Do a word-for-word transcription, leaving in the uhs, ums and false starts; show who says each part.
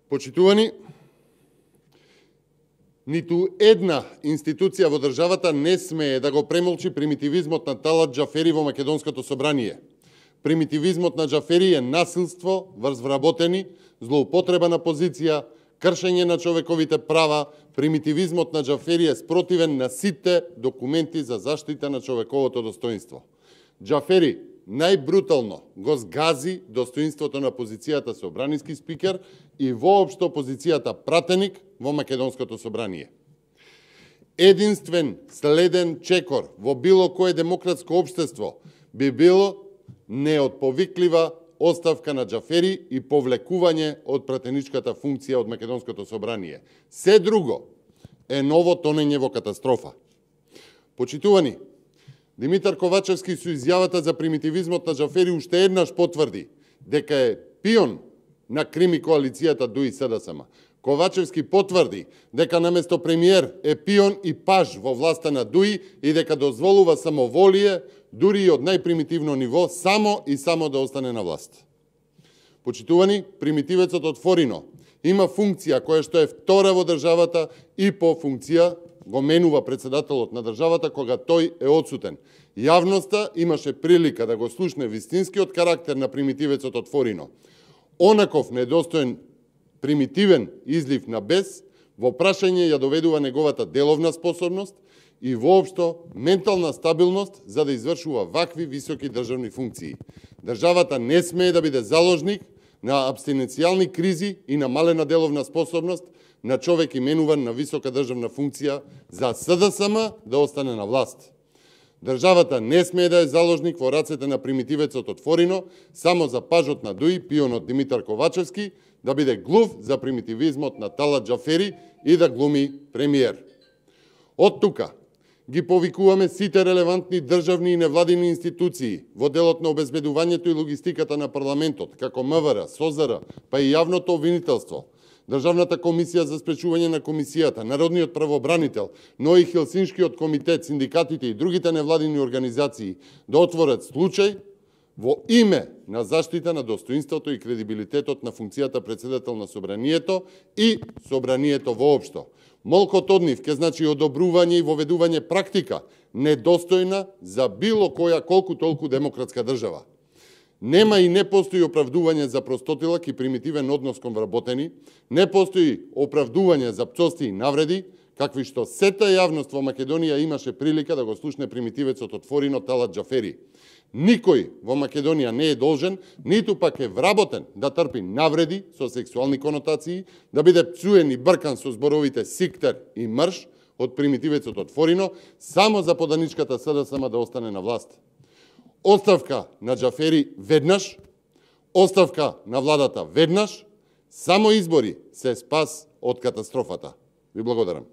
Speaker 1: Почитувани, ниту една институција во државата не смее да го премолчи примитивизмот на Талат Џафери во Македонското собрание. Примитивизмот на Џафери е насилство врз вработени, злоупотреба на позиција, кршење на човековите права. Примитивизмот на Џафери е спротивен на сите документи за заштита на човековото достоинство. Џафери најбрутално го згази достоинството на позицијата собраниски спикер и воопшто позицијата пратеник во Македонското собрание. Единствен следен чекор во било кое демократско општество би било неотповиклива оставка на Џафери и повлекување од пратеничката функција од Македонското собрание. Се друго е ново тонење во катастрофа. Почитувани, Димитар Ковачевски со изјавата за примитивизмот на Џафери уште еднаш потврди дека е пион на крими коалицијата ДУИ СДСМ. Ковачевски потврди дека наместо премиер е пион и паж во власта на ДУИ и дека дозволува самоволие, дури и од најпримитивно ниво, само и само да остане на власт. Почитувани, примитивецот од Форино има функција која што е втора во државата и по функција го менува председателот на државата кога тој е одсутен. Јавноста имаше прилика да го слушне вистинскиот карактер на примитивецот од Форино. Онаков недостоен примитивен излив на бес во прашање ја доведува неговата деловна способност и воопшто ментална стабилност за да извршува вакви високи државни функции. Државата не смее да биде заложник на абстиненцијални кризи и на малена деловна способност на човек именуван на висока државна функција за СДСМ да остане на власт. Државата не смее да е заложник во рацете на примитивецот од Форино, само за пажот на ДУИ, пионот Димитар Ковачевски, да биде глув за примитивизмот на Талат Џафери и да глуми премиер. Од тука ги повикуваме сите релевантни државни и невладини институции во делот на обезбедувањето и логистиката на парламентот, како МВР, СОЗР, па и јавното обвинителство, Државната комисија за спречување на комисијата, Народниот правобранител, но и Хелсиншкиот комитет, синдикатите и другите невладини организации да отворат случај во име на заштита на достоинството и кредибилитетот на функцијата председател на собранието и собранието воопшто. Молкот од нив ке значи одобрување и воведување практика недостојна за било која колку толку демократска држава. Нема и не постои оправдување за простотилак и примитивен однос кон вработени, не постои оправдување за пцости и навреди, какви што сета јавност во Македонија имаше прилика да го слушне примитивецот од Форино Талат Џафери. Никој во Македонија не е должен, ниту пак е вработен да трпи навреди со сексуални конотации, да биде пцуен и бркан со зборовите сиктер и мрш од примитивецот од Форино, само за поданичката СДСМ да остане на власт. Оставка на Џафери веднаш, оставка на владата веднаш, само избори се спас од катастрофата. Ви благодарам.